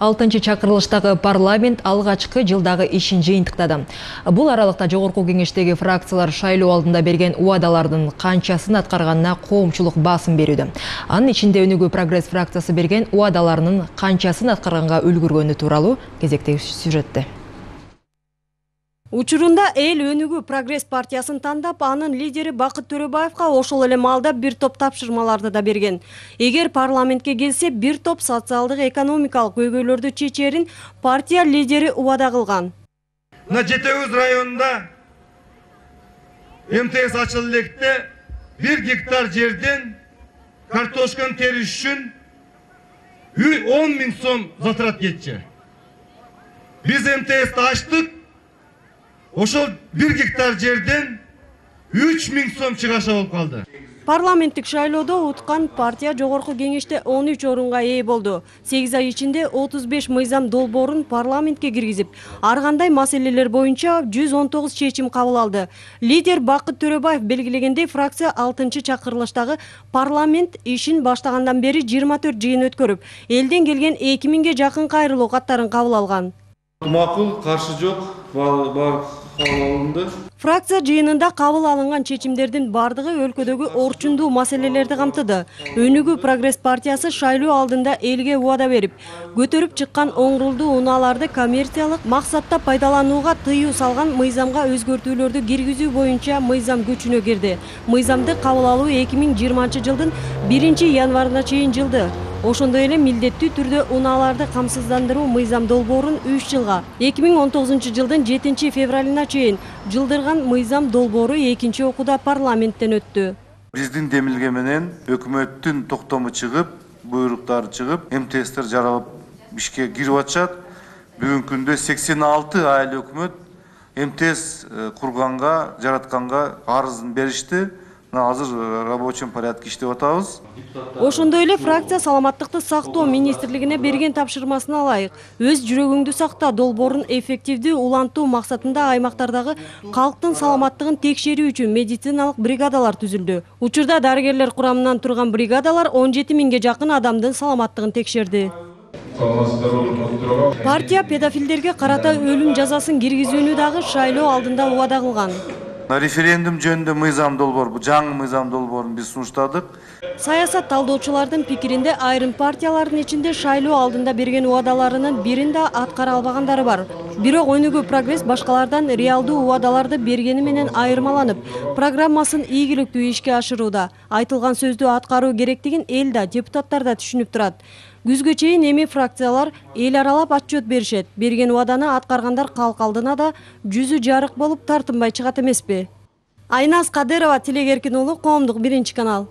6-чы чакырылыштагы парламент алгачкы жылдагы ишин жыйынтыктады. Бул аралыкта жогорку кеңештеги фракциялар шайлоо алдында берген убадалардын канчасын аткарганына коомчулук басым берүүдө. Анын ичинде Өнүгүү Прогресс фракциясы берген убадаларынын канчасын аткарганга үлгүргөнү тууралуу кезектеги сюжетте. Учурунда эл Өнүгүү Прогресс партиясын тандап, анын лидери Бакыт Төрөбаевга ошол эле маалда бир топ тапшырмаларды да берген. Эгер парламентке келсе, бир топ социалдык экономикалык көйгөйлөрдү чечерин партия лидери убада кылган. На Жетеуз районунда МТС ачылып электе 1 гектар жерден картошканы териш үчүн 10 000 сом затрат кетчү. Биз МТС'ти ачтык. Ошол 1 гектар жерден 3 000 сом чыгаша болуп калды. Парламенттик шайлоодо уткан партия жогорку кеңеште 13 орунга ээ болду. 8 ай ичинде 35 мыйзам долбоорун парламентке киргизип, ар кандай маселелер боюнча 119 чечим кабыл алды. Лидер Бакыт Төрөбаев белгилегендей, фракция 6-чы чакырылыштагы парламент ишин баштагандан бери 24 жыйын өткөрүп, элден келген 2000ге жакын кайрылуу каттарын кабыл алган. Макул, каршы жок, бар кабыл. Фракция жыйынында кабыл алынган чечимдердин бардыгы өлкөдөгү орчундуу маселелерди камтыды. Өнүгүү Прогресс партиясы шайлоо алдында элге убада берип, көтөрүп чыккан оңрулдуу унааларды коммерциялык максатта пайдаланууга тыюу салган мыйзамга өзгөртүүлөрдү киргизүү боюнча мыйзам күчүнө кирди. Мыйзамды кабыл алуу 2020-жылдын 1-январына чейин жылды. Ошондой эле милдеттүү түрдө унааларды камсыздандыруу мыйзам долбоорун 3 жылга, 2019-жылдын 7-февралына чейин жылдырган мыйзам долбоору 2-чи окууда парламенттен өттү. Биздин демилге менен өкмөттүн токтому чыгып, буйруктары чыгып, МТС'тер жаралып ишке кирип атышат. Бүгүнкү күндө 86 айыл өкмөт МТС курганга, жаратканга арызын беришти. Азыр рабочий порядке иштеп атабыз. Ошондой эле фракция саламаттыкты сактоо министрлигине берген тапшырмасына ылайык өз жүрөгүңдү сакта долбоорун эффективдүү улантуу максатында аймактардагы калктын саламаттыгын текшерүү үчүн медициналык бригадалар түзүлдү. Учурда дарыгерлер курамынан турган бригадалар 17 000ге жакын адамдын саламаттыгын текшерди. Партия педофилдерге карата өлүм жазасын киргизүүнү дагы шайлоо алдында убада кылган. Референдум жөнүндө мыйзам долбоор, бул жаңы мыйзам долбоорун биз сунуштадык. Саясат талдоочулардын пикиринде айрым партиялардын ичинде шайлоо алдында берген убадаларынын бирин да аткара албагандары бар. Бирок Өнүгүү Прогресс башкалардан реалдуу убадаларды бергени менен айырмаланып, программасын ийгиликтүү ишке ашырууда. Айтылган сөздү аткаруу керектигин эл да, депутаттар да түшүнүп турат. Күзгө чейин эми фракциялар эл аралап отчет беришет. Берген убаданы аткаргандар калк алдына да жүзү жарык болуп тартынбай чыгат эмеспи? Айназ Кадырова, Тилек Эркин уулу, Коомдук 1-канал.